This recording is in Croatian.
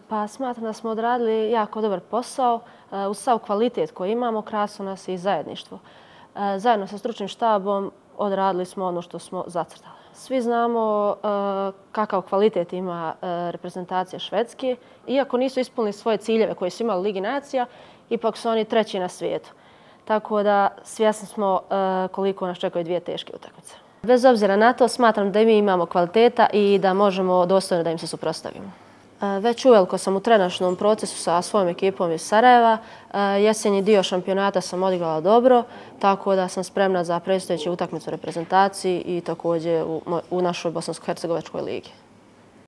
Pa smatram da smo odradili jako dobar posao. Uz sav kvalitet koji imamo, krasno nas je i zajedništvo. Zajedno sa stručnim štabom odradili smo ono što smo zacrtali. Svi znamo kakav kvalitet ima reprezentacija Švedske. Iako nisu ispunili svoje ciljeve koje su imali u Ligi nacija, ipak su oni treći na svijetu. Tako da svjesni smo koliko nas čekaju dvije teške utakmice. Bez obzira na to, smatram da i mi imamo kvaliteta i da možemo dostojno da im se suprotstavimo. Već uveliko sam u trenažnom procesu sa svojom ekipom iz Sarajeva. Jesenji dio šampionata sam odigrala dobro, tako da sam spremna za predstojeću utakmicu reprezentaciji i također u našoj bosansko-hercegovačkoj ligi.